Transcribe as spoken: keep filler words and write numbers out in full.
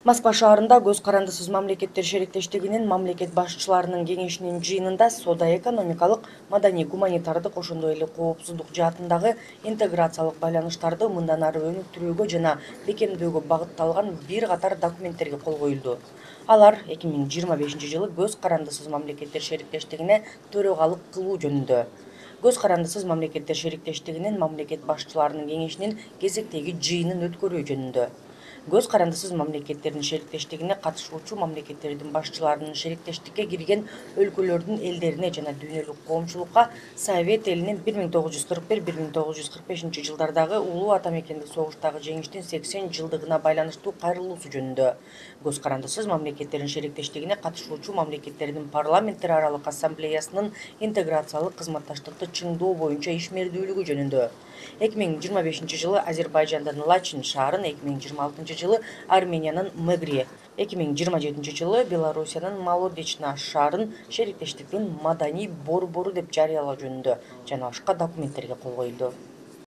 Москва шаарында Көз карандысыз мамлекеттер шериктештигинин мамлекет башчыларынын кеңешинин жыйынында соода-экономикалык, маданий-гуманитардык, ошондой эле коопсуздук жаатындагы интеграциялык байланыштарды мындан ары өнүктүрүүгө жана бекемдөөгө багытталган бир катар документтерге кол коюлду. Алар эки миң жыйырма бешинчи жылы Көз карандысыз мамлекеттер шериктештигине төрагалык кылуу жөнүндө. Көз карандысыз мамлекеттер шериктештигинин мамлекет башчыларынын кеңешинин кезектеги жыйынын өткөрүү жөнүндө. Көз карандысыз мамлекеттердин шериктештигине катышуучу мамлекеттердин башчыларынын шериктештикке кирген өлкөлөрдүн элдерине жана дүйнөлүк коомчулукка Совет элинин бир миң тогуз жүз кырк бир — бир миң тогуз жүз кырк бешинчи жылдардагы улуу ата мекендик согуштагы жеңиштин сексен жылдыгына байланыштуу кайрылуусу жөнүндө. Көз карандысыз мамлекеттердин шериктештигине катышуучу мамлекеттердин парламенттер аралык ассамблеясынын интеграциялык кызматташтыкты чыңдоо боюнча ишмердүүлүгү жөнүндө. эки миң жыйырма бешинчи жылы Азербайжандын Лачин шаарын, эки миң жыйырма алтынчы жылы Армениянын Мегри, эки миң жыйырма жетинчи жылы Белоруссиянын Молодечна шаарын шериктештиктин маданий борбору деп жарыялоо жөнүндө жана башка документтерге кол коюлду.